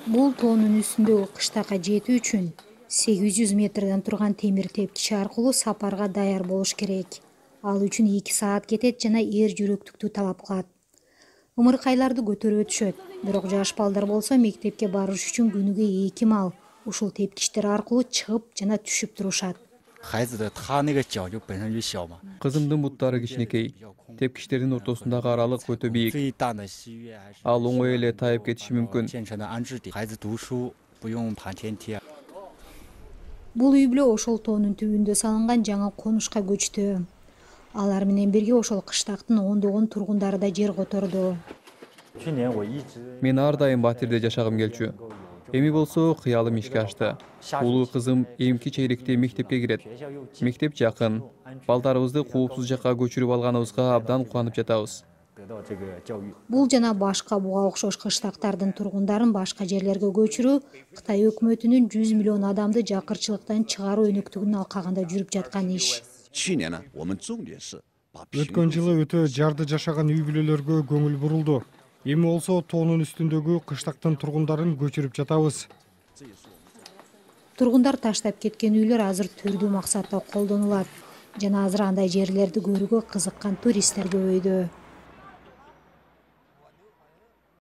Бул тоонун үстүндөгү кыштакка жетүү үчүн 800 метрден турган темир тепкич аркылуу сапарга даяр болуш керек. Ал үчүн 2 саат кетет жана эр жүрөктүктү талап кылат. Ымыркайларды көтөрүп өтүшөт. Бирок жаш балдар болсо мектепке барыш үчүн күнүгө 2 маал ушул тепкичтер аркылуу чыгып жана түшүп турушат. Кызымдын буттары кичинекей. Тепкичтердин ортосундагы аралык өтө бийик. Ал оңой эле тайып кетиши мүмкүн. Бул үй бүлө ошол тоонун түбүндө салынган жаңы конушка көчтү. Алар менен бирге ошол кыштактын ондогон тургундары да жер которду. Мен ар дайым Батирде жашагым келчү. Эми болсо кыялым ишке ашты. Улуу кызым эмки чейректе мектепке кирет. Мектеп жакын. Балдарыбызды коопсуз жакка көчүрүп алганыбызга абдан кубанып жатабыз. Бул жана башка буга окшош кыштактардын тургундарын башка жерлерге көчүрүү Кытай өкмөтүнүн 100 миллион адамды жакырчылыктан чыгаруу өнөктүгүн алкагында жүрүп жаткан иш. Өткөн жылы өтө жарды жашаган үй бүлөлөргө көңүл бурулду. Эми болсо тоонун үстүндөгү кыштактын тургундарын көчүрүп жатабыз. Тургундар таштап кеткен үйлөр азыр түрдүү максатта колдонулат жана азыр андай жерлерди көрүүгө кызыккан туристтер көбөйдү.